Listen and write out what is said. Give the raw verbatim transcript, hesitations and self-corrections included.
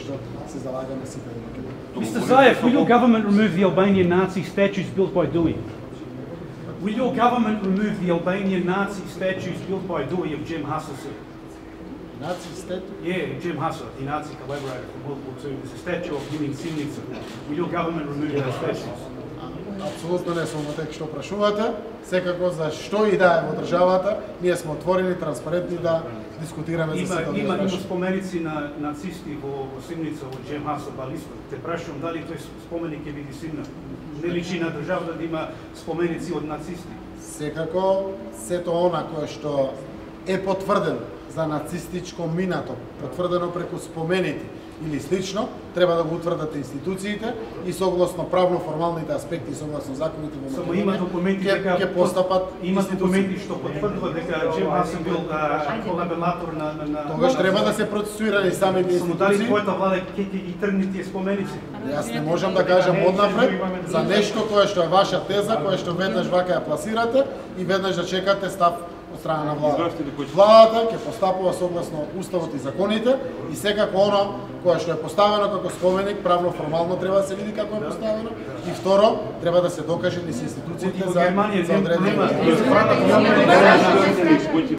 што се залагаме сите во Македонија. Mister Zaev, will your government remove the Albanian Nazi statues built by Dewey? Will your government remove the Albanian Nazi statues built by Dewey of Jem Hasa, sir? Nazi statue? Yeah, Jem Hasa, the Nazi collaborator from World War Two. There's a statue of him in Sivnica. Will your government remove those statues? Апсолутно не сум во тек што прашувате. Секако за што и да е во државата, ние сме отворени, транспарентни да дискутираме за сето Има има прашање. споменици на нацисти во Сивница во Jem Hasa, Балисто. Те прашувам дали тој споменик ќе биде симна. Не личи на државата да има споменици од нацисти. Секако сето она кое што е потврдено за нацистичко минато, потврдено преку спомените или слично, треба да го утврдат институциите и согласно правно-формалните аспекти, согласно законите во Само има документи дека ќе постапат има документи што потврдува дека Jem Hasa бил колаборатор на на Тогаш треба да се процесуирани самите Само дали институции. твојата влада ќе ќе ги тргне тие споменици? Јас не можам да кажам однапред за нешто кое што е ваша теза, кое што веднаш вака ја пласирате и веднаш да чекате став од страна на владата. Владата ќе постапува согласно уставот и законите и секако оно кое што е поставено како споменик правно формално треба да се види како е поставено и второ треба да се докаже низ институциите за за одредени